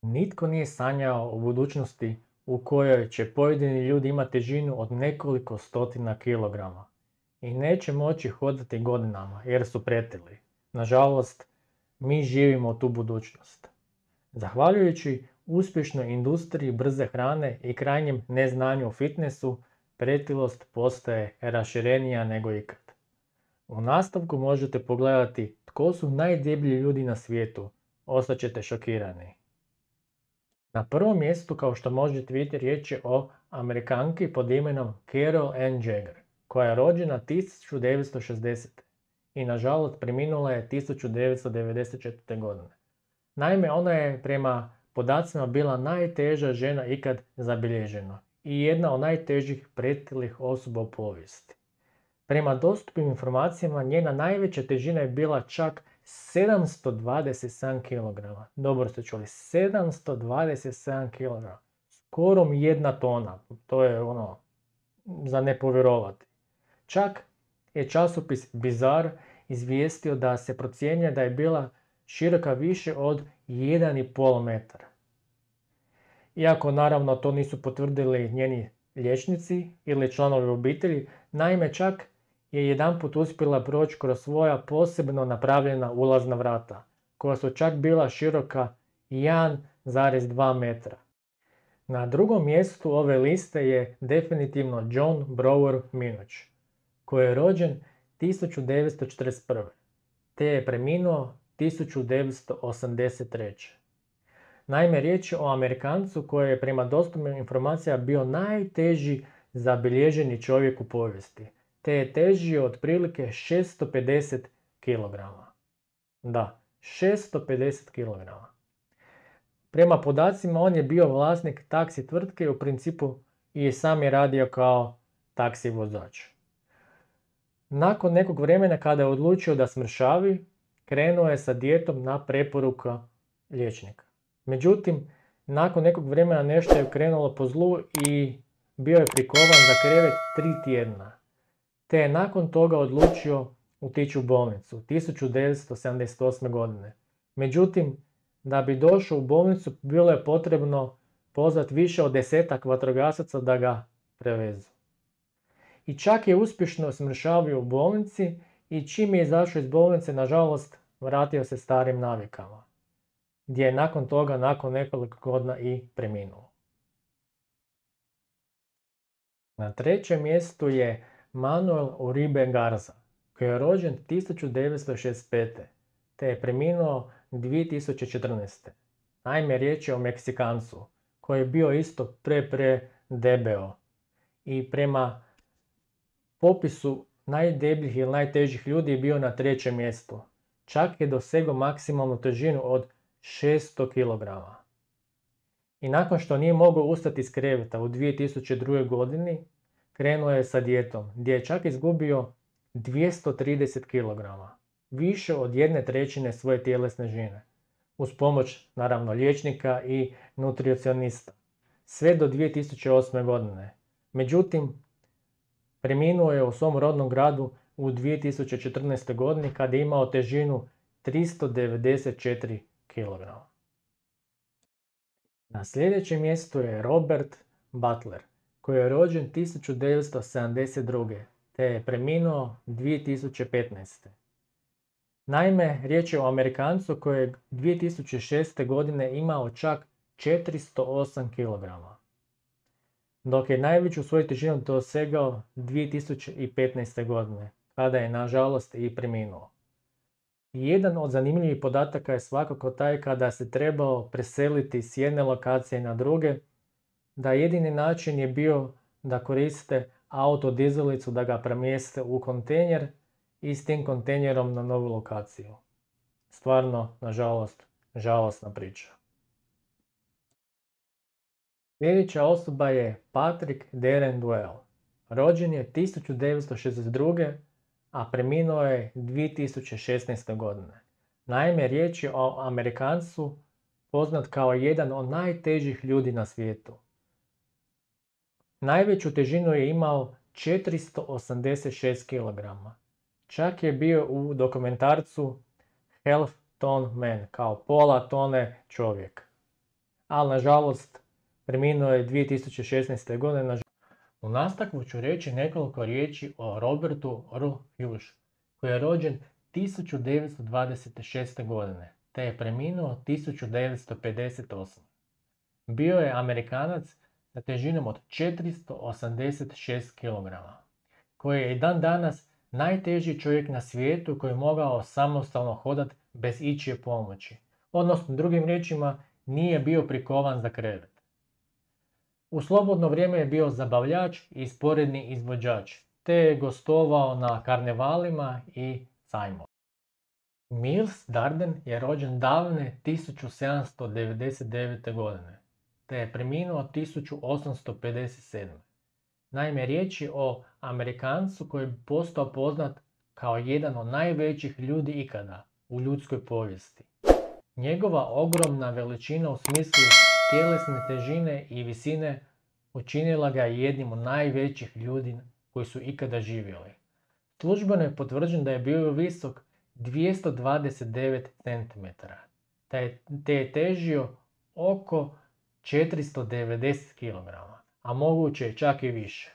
Nitko nije sanjao o budućnosti u kojoj će pojedini ljudi imati težinu od nekoliko stotina kilograma i neće moći hodati godinama jer su pretili. Nažalost, mi živimo tu budućnost. Zahvaljujući uspješnoj industriji brze hrane i krajnjem neznanju o fitnessu, pretilost postaje raširenija nego ikad. U nastavku možete pogledati tko su najdeblji ljudi na svijetu, ostaćete šokirani. Na prvom mjestu, kao što možete vidjeti, riječ je o Amerikanki pod imenom Carol Ann Jagger, koja je rođena 1960. i nažalost preminula je 1994. godine. Naime, ona je prema podacima bila najteža žena ikad zabilježena i jedna od najtežih pretilih osoba u povijesti. Prema dostupnim informacijama njena najveća težina je bila čak 727 kg. Dobro ste čuli, 727 kg. Skoro mi 1 tona. To je za ne povjerovati. Čak je časopis Bizarre izvijestio da se procjenjuje da je bila široka više od 1,5 metra. Iako naravno to nisu potvrdili njeni liječnici ili članovi obitelji, naime čak je jedanput uspjela proći kroz svoja posebno napravljena ulazna vrata, koja su čak bila široka 1,2 metra. Na drugom mjestu ove liste je definitivno John Brower Minoch, koji je rođen 1941. te je preminuo 1983. Naime, riječ je o Amerikancu koji je prema dostupnim informacijama bio najteži zabilježeni čovjek u povijesti, te je težio otprilike 650 kg. Da, 650 kg. Prema podacima on je bio vlasnik taksi tvrtke i u principu i sam je radio kao taksi vozač. Nakon nekog vremena kada je odlučio da smršavi, krenuo je sa dijetom na preporuku liječnika. Međutim, nakon nekog vremena nešto je krenulo po zlu i bio je prikovan za krevet 3 tjedna. Te je nakon toga odlučio otići u bolnicu 1978. godine. Međutim, da bi došao u bolnicu bilo je potrebno pozvati više od 10 vatrogasaca da ga prevezu. I čak je uspješno smršavio u bolnici i čim je izašao iz bolnice, nažalost, vratio se starim navikama, gdje je nakon toga, nakon nekoliko godina i preminuo. Na trećem mjestu je Manuel Uribe Garza, koji je rođen 1965. te je preminuo 2014. Naime, riječ je o Meksikancu, koji je bio isto debeo i prema popisu najdebljih ili najtežih ljudi je bio na trećem mjestu. Čak je dosegao maksimalnu težinu od 600 kg. I nakon što nije mogao ustati iz kreveta u 2002. godini, krenuo je sa dijetom, gdje je čak izgubio 230 kg, više od 1/3 svoje tjelesne žine, uz pomoć naravno liječnika i nutricionista, sve do 2008. godine. Međutim, preminuo je u svom rodnom gradu u 2014. godini kada je imao težinu 394 kg. Na sljedećem mjestu je Robert Butler, koji je rođen 1972. te je preminuo 2015. Naime, riječ je o Amerikancu koji je 2006. godine imao čak 408 kg, dok je najveću svoju težinu dosegao 2015. godine, kada je nažalost i preminuo. Jedan od zanimljivih podataka je svakako taj kada se trebao preseliti s jedne lokacije na druge, da jedini način je bio da koriste autodizelicu da ga premjeste u kontejner i s tim kontejnerom na novu lokaciju. Stvarno, nažalost, žalosna priča. Sljedeća osoba je Patrick Darren Duell. Rođen je 1962. a preminuo je 2016. godine. Naime, riječ je o Amerikancu poznat kao jedan od najtežih ljudi na svijetu. Najveću težinu je imao 486 kg. Čak je bio u dokumentarcu Half Ton Man, kao pola tone čovjek. ali nažalost preminuo je 2016. godine. U nastavku ću reći nekoliko riječi o Robertu R. Hughes, koji je rođen 1926. godine, te je preminuo 1958. Bio je Amerikanac sa težinom od 486 kg, koji je i dan danas najteži čovjek na svijetu koji je mogao samostalno hodati bez ičije pomoći. Odnosno, drugim riječima, nije bio prikovan za krevet. U slobodno vrijeme je bio zabavljač i sporedni izvođač, te je gostovao na karnevalima i sajmovima. Miles Darden je rođen davne 1799. godine, te je preminuo 1857. Naime, riječ je o Amerikancu koji je postao poznat kao jedan od najvećih ljudi ikada u ljudskoj povijesti. Njegova ogromna veličina u smislu tjelesne težine i visine učinila ga jednim od najvećih ljudi koji su ikada živjeli. Službeno je potvrđeno da je bio visok 229 cm, te je težio oko 490 kg, a moguće čak i više.